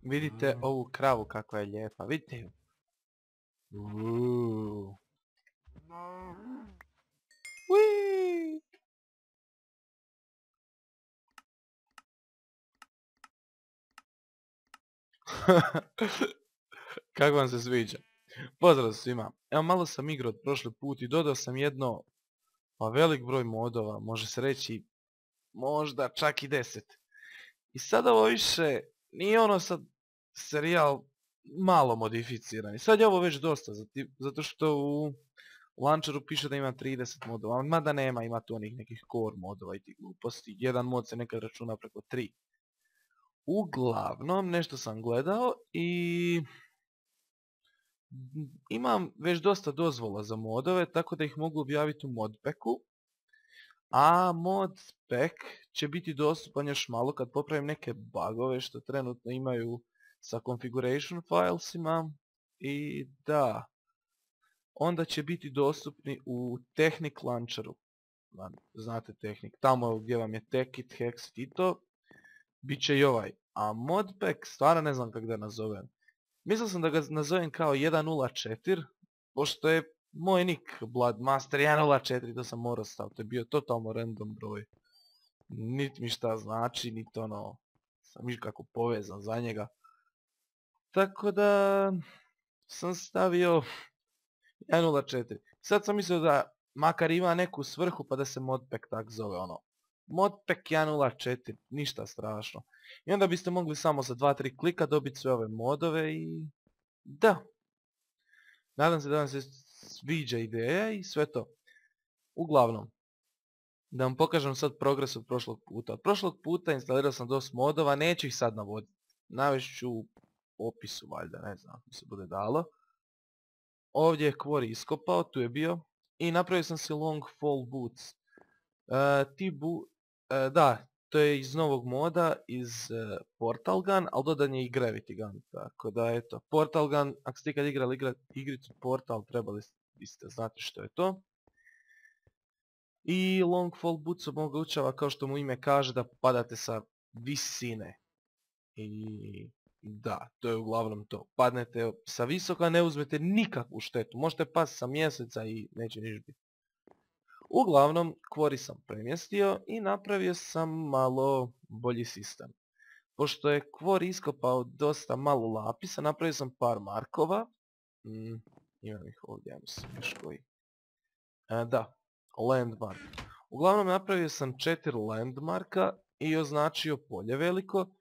Vidite ovu kravu kakva je lijepa, vidite ju. Uiii. Kako vam se sviđa? Pozdrav svima. Evo malo sam igrao od prošli put i dodao sam jedno velik broj modova, može se reći možda čak i 10. I sad ovo više nije ono sad serijal malo modificiran. I sad je ovo već dosta, zato što u launcheru piše da ima 30 modova, mada nema, ima tu onih nekih core modova i tih gluposti. Jedan mod se nekad računa preko 3. Uglavnom, nešto sam gledao i imam već dosta dozvola za modove, tako da ih mogu objaviti u modpacku. A modpack će biti dostupan još malo kad popravim neke bugove što trenutno imaju sa configuration filesima. I da, onda će biti dostupni u Technic launcheru. Znate Technic, tamo gdje vam je Techit, Hexit i to, bit će i ovaj. A modpack stvarno ne znam kako da nazovem. Mislio sam da ga nazovem kao 1.0.4, pošto je moj nick Bloodmaster 1.0.4, to sam morao staviti, to je bio totalno random broj. Niti mi šta znači, niti ono, sam nikako povezan za njega. Tako da sam stavio 1.0.4. Sad sam mislio da makar ima neku svrhu pa da se modpack tak zove ono. Modpack 1.0.4, ništa strašno. I onda biste mogli samo za 2-3 klika dobiti sve ove modove i... Da. Nadam se da vam se sviđa ideja i sve to. Uglavnom, da vam pokažem sad progres od prošlog puta. Od prošlog puta instalirao sam dosta modova, neću ih sad navoditi. Navest ću u opisu valjda, ne znam ako se bude dalo. Ovdje je Quarry iskopao, tu je bio. I napravio sam si long fall boots. Da, to je iz novog moda, iz Portal Gun, ali dodan je i Gravity Gun. Tako da eto, Portal Gun, ako ste ikad igrali igricu Portal, trebali biste znati što je to. I long fall boots omogućava, kao što mu ime kaže, da padate sa visine. I da, to je uglavnom to. Padnete sa visoka, ne uzmete nikakvu štetu. Možete pasti sa mjeseca i neće niš biti. Uglavnom, Quarry sam premjestio i napravio sam malo bolji sistem. Pošto je Quarry iskopao dosta malo lapisa, napravio sam par markova. Imam ih ovdje, ja mislim još koji. Da, landmark. Uglavnom napravio sam 4 landmarka i označio polje veliko.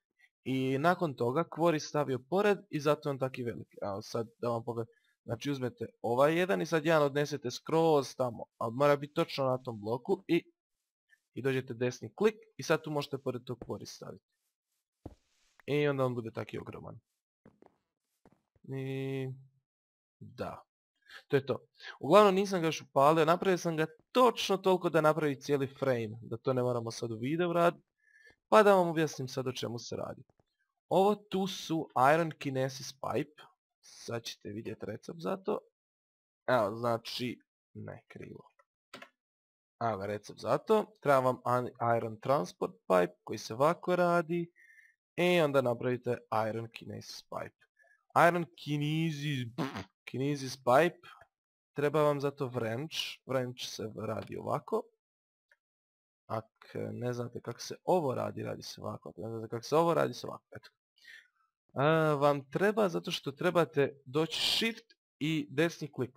I nakon toga Quarry stavio pored i zato je on taki veliki. Evo sad da vam pogledam. Znači uzmete ovaj jedan i sad jedan odnesete skroz tamo. Ali mora biti točno na tom bloku i dođete desni klik i sad tu možete pored tog Quarry staviti. I onda on bude taki ogroman. I... da. To je to. Uglavnom nisam ga još upalio, napravio sam ga točno toliko da napravi cijeli frame. Da to ne moramo sad u videu raditi. Pa da vam objasnim sad o čemu se radi. Ovo tu su Iron Kinesis Pipe. Sad ćete vidjeti recept za to. Evo, znači, ne, krivo. Evo recept za to. Treba vam Iron Transport Pipe koji se ovako radi. I onda napravite Iron Kinesis Pipe. Iron Kinesis Pipe. Treba vam zato wrench. Wrench se radi ovako. Ako ne znate kako se ovo radi, radi se ovako. Ako ne znate kako se ovo radi se ovako. Eto. Vam treba zato što trebate doći shift i desni klik.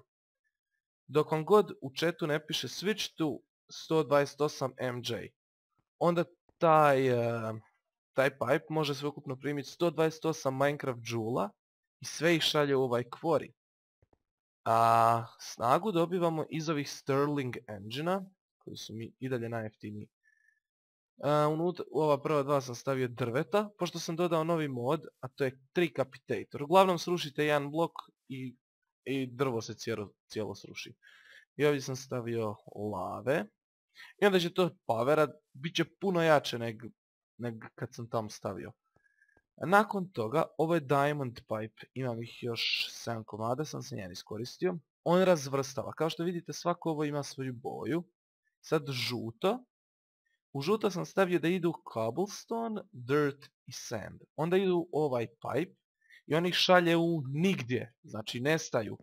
Dok vam god u chatu ne piše switch to 128 MJ. Onda taj pipe može sveukupno primiti 128 Minecraft Joule-a i sve ih šalje u ovaj Quarry. A snagu dobivamo iz ovih Sterling engine-a, koji su mi i dalje najjeftiniji. U ova prva dva sam stavio drveta, pošto sam dodao novi mod, a to je Tricapitator. Uglavnom srušite jedan blok i drvo se cijelo sruši. I ovdje sam stavio lave. I onda će to powerat, bit će puno jače nego kad sam tam stavio. Nakon toga, ovo je Diamond Pipe, imam ih još 7 komada, sam se njen iskoristio. On razvrstava, kao što vidite svako ovo ima svoju boju. Sad žuto. U žuto sam stavio da idu cobblestone, dirt i sand. Onda idu u ovaj pipe i on ih šalje u nigdje, znači nestaju.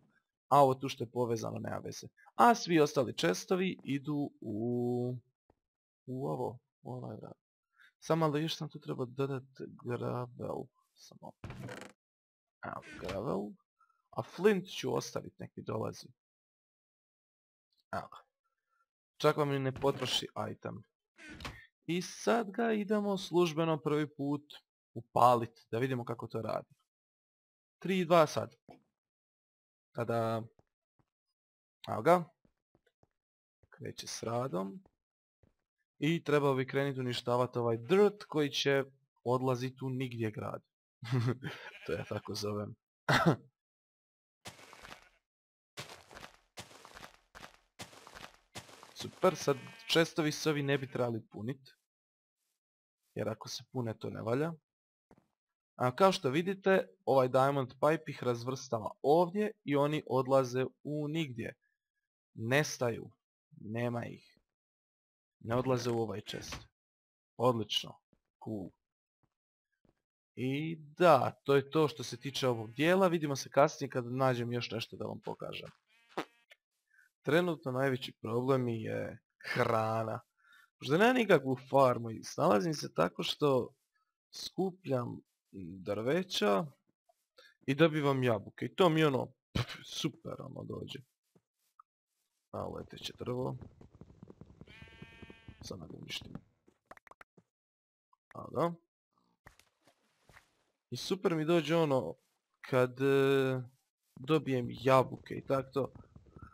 A ovo tu što je povezano nema veze. A svi ostali chestovi idu u ovo, u ovaj vrat. Samo ali još sam tu treba dodati gravel. Samo. Evo, gravel. A flint ću ostaviti, nek mi dolazi. Evo. Čak vam i ne potroši item. I sad ga idemo službeno prvi put upaliti, da vidimo kako to radi. 3, 2, sad. Tada. Evo ga. Kreće s radom. I trebao bi krenuti uništavati ovaj dirt koji će odlaziti u nigdje grad. To ja tako zovem. Super, sad chestovi se ovi ne bi trebali puniti. Jer ako se pune to ne valja. A kao što vidite, ovaj diamond pipe ih razvrstava ovdje i oni odlaze u nigdje. Nestaju. Nema ih. Ne odlaze u ovaj chest. Odlično. Cool. I da, to je to što se tiče ovog dijela. Vidimo se kasnije kad nađem još nešto da vam pokažem. Trenutno najveći problem je hrana. Možda nema nikakvu farmu i snalazim se tako što skupljam drveća i dobivam jabuke. I to mi ono super ono dođe. A leteće drvo. Sad da ga uništim. A da. I super mi dođe ono kad dobijem jabuke i tako to.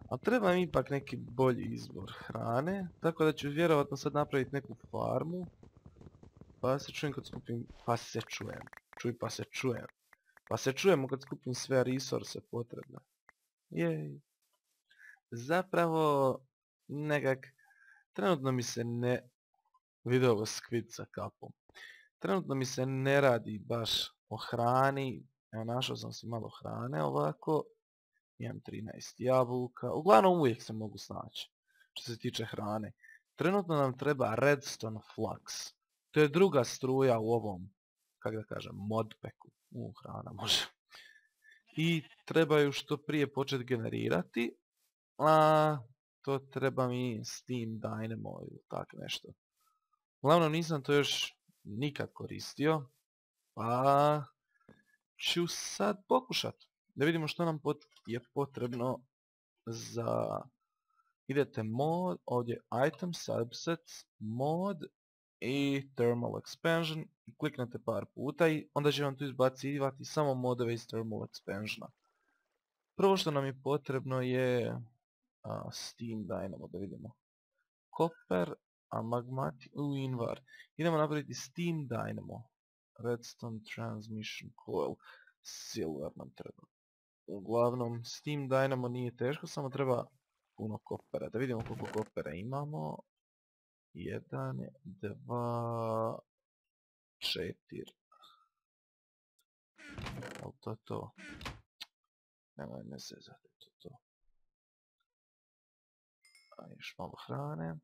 A treba mi ipak neki bolji izvor hrane, tako da ću vjerovatno sad napraviti neku farmu. Pa se čujem kad skupim, pa se čujem. Čuj pa se čujem. Pa se čujemo kad skupim sve resurse potrebne. Jej. Zapravo, nekak, trenutno mi se ne... Vidio ovo skvid sa kapom. Trenutno mi se ne radi baš o hrani. Evo našao sam si malo hrane ovako. Imam 13 jabuka. Uglavnom uvijek se mogu snaći. Što se tiče hrane. Trenutno nam treba redstone flux. To je druga struja u ovom, kako da kažem, modpacku. Hrana može. I trebaju što prije početi generirati. A to treba mi Steam Dynamo ili tak nešto. Uglavnom nisam to još nikad koristio. Pa ću sad pokušat. Da vidimo što nam je potrebno za... Idete mod, ovdje item, subsets, mod i thermal expansion i kliknete par puta i onda će vam tu izbacivati samo modove iz thermal expansiona. Prvo što nam je potrebno je Steam Dynamo, da vidimo. Copper, magmatic, invar. Idemo napraviti Steam Dynamo. Redstone transmission coil. Silver nam treba. Uglavnom, Steam Dynamo nije teško, samo treba puno kopera. Da vidimo koliko kopera imamo. 1, 2, 4. Ali to je to. Nemoj me zezati, to. A još malo hrane.